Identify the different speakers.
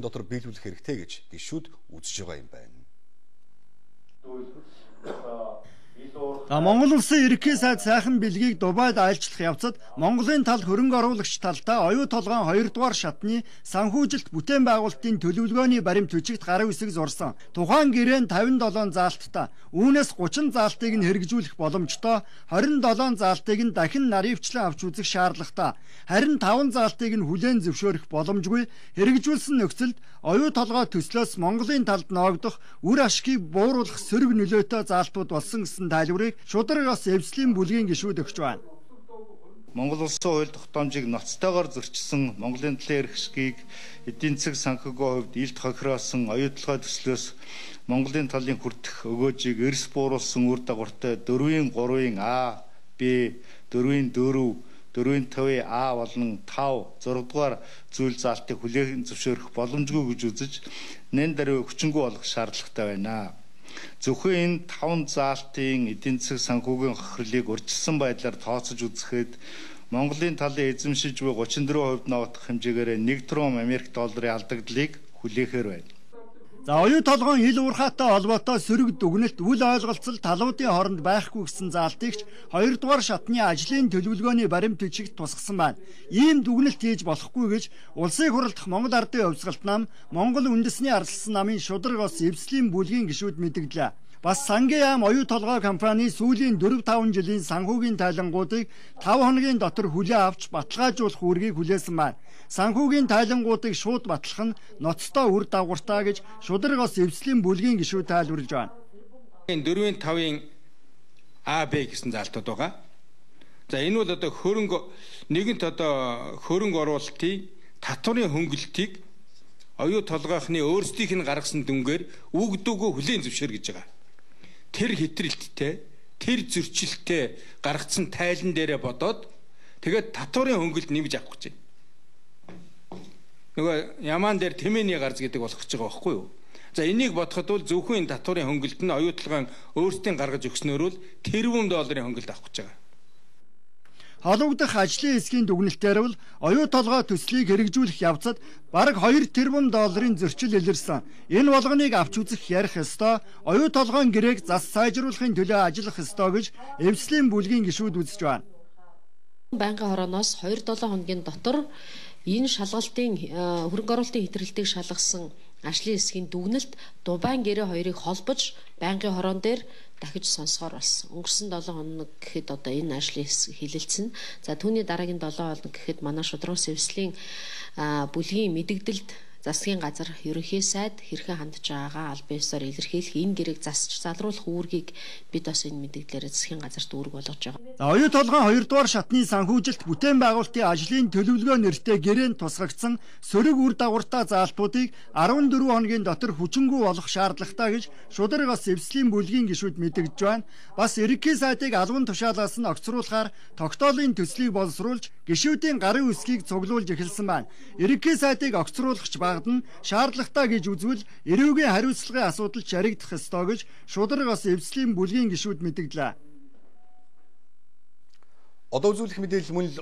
Speaker 1: дотор биелүүлэх хэрэгтэй гэж гишүүд үзэж байгаа юм байна.
Speaker 2: Монгол улсын ерөнхий сайд сайхан бэлгийг Дубайд айлчлах явцад Монголын тал хөрөнгө оруулагч талдаа оюу толгойн 2 дугаар шатны санхүүжилт бүтээн байгуулалтын төлөвлөгөөний баримт бичигт гарын үсэг зурсан. Тухайн гэрээн 57 заалттай. Үүнээс 30 заалтыг нь хэрэгжүүлэх боломжтой, 27 заалтыг нь дахин наривчлан авч үзэх шаардлагатай. Харин 5 заалтыг нь хүлээн зөвшөөрөх боломжгүй. Хэрэгжүүлсэн нөхцөлд оюу толгой төслөөс Монголын талд ноогдох үр ашгийг бууруулах сөрөг нөлөөтэй заалтууд болсон гэсэн тайлбарыг шударгаас эвслийн бүлгийн гишүүд өгч байна.
Speaker 3: Монгол улсын хууль тогтоомжийг ноцтойгоор зөрчилсөн Монголын талын эрх ашгийг эдийн засаг санхүүгийн хувьд илт хохироосон оюу толгой төслөөс Монголын талын хүртэх өгөөжийг эрс бууруулсан үр дагавартай 4-ийн 3-ийн А, Б, 4-ийн 4, 4-ийн 5-ийн А болон 5, 6 дугаар зүйл заалтыг хүлээн зөвшөөрөх боломжгүй гэж үзэж нэн даруй хүчингүй болгох шаардлагатай байна. Зөвхөн энэ 5 заалтын эдийн засаг санхүүгийн хохирлыг урьдчилсан байдлаар тооцож үзэхэд Монголын талын эзэмшиж буй 34% ноогдох хэмжээгээр 1 триллион Америк долларын алдагдлыг хүлээхээр байна.
Speaker 2: За оюу толгойн ил уурхайтай холбоотой сөрөг дүгнэлт үл ойлголцол талуудын хооронд байхгүй гэсэн заалтыгч 2 дугаар шатны ажлын төлөвлөгөөний баримт бичигт тусгасан байна. Ийм дүгнэлт хийж болохгүй гэж улсыг хурлдах Монгол Ардын хувьсгалт нам, Монгол үндэсний арслан намын шударгаас эвслийн бүлгийн гишүүд мэдгэлээ. Бас Сангийн яам оюу толгой компани сүүлийн 4-5 жилийн санхүүгийн тайлангуудыг 5 хоногийн дотор хүлээ авч баталгаажуулах үүргийг хүлээсэн байна. Санхүүгийн тайлангуудыг шууд батлах нь ноцтой үр дагавартай гэж шударгаас эвслийн бүлгийн гишүүд тайлбарлаж байна.
Speaker 4: 4-ийн 5-ийн А, Б гэсэн заалтууд байгаа. За энэ бол одоо нэгэнт хөрөнгө оруулалтын татварын хөнгөлөлтийг оюу толгойхны өөрсдийнх нь гаргасан дүнгээр үгдүүгөө хүлээн зөвшөөр гэж байгаа. Тэр хэтрэлттэй, тэр зөрчилттэй гаргацсан тайлан дээрээ бодоод тэгээд татварын хөнгөлөлт нэмж авах гэж байна. Нөгөө ямаан дээр тэмээний гарц гэдэг болох гэж байгаа байхгүй юу? За энийг бодоход бол зөвхөн татварын хөнгөлөлт нь оюу толгойн өөрсдийн гаргаж өгснөөр бол тэрбум долларын хөнгөлөлт авах гэж байгаа.
Speaker 2: Холбогдох ажлын хэсгийн дүгнэлтээр бол оюу толгой төслийг хэрэгжүүлэх явцад бараг 2 тэрбум долларын зөрчил илэрсэн. Энэ болгоныг авч үзэх ярих ёстой, оюу толгойн гэрээг зас сайжруулахын төлөө ажиллах ёстой гэж эвслийн бүлгийн гишүүд үзэж байна.
Speaker 5: Байнгын хорооноос 2-7 хоногийн дотор энэ шалгалтын хөрөнгө оруулалтын хэтрэлтийг шалгасан ажлын хэсгийн дүгнэлт Дубайн гэрээ хоёрыг холбож байнгын хороон дээр дахиж сонсгоор болсон. Өнгөрсөн 7 хоног гэхэд одоо энэ ажлын хэсэг хилэлцэн. За түүний дараагийн 7 хоног гэхэд манай шудрагс эвслийн бүлгийн мэдэгдэлд засгийн газар ерөнхий сайд хэрхэн хандж байгаагаа аль биесээр илэрхийлэх энэ гэрээг засч залруулах үүргийг бид бас энэ мэдээлэлээр засгийн газарт үүрэг болгож байгаа.
Speaker 2: Оюу толгойн 2 дугаар шатны санхүүжилт бүтээн байгуулалтын ажлын төлөвлөгөө нэртэй гэрээнд тусгагдсан сөрөг үр дагавартай заалтуудыг 14 хоногийн дотор хүчингүй болох шаардлагатай гэж шударгаас эвслийн бүлгийн гишүүд мэдэгдэж байна. Бас ерөнхий сайдыг албан тушаалаас нь огцруулахаар тогтоолын төслийг боловсруулж гишүүдийн гарын үсгийг цуглуулж эхэлсэн байна. Ерөнхий сайдыг огцруулахч багдан шаардлагатай гэж үзвэл эрүүгийн хариуцлагын асуудал чаригдах ёстой гэж шударгаас эвслийн бүлгийн гишүүд мэдгэлээ.
Speaker 1: Одоо үзүүлэх мэдээлэл мөн л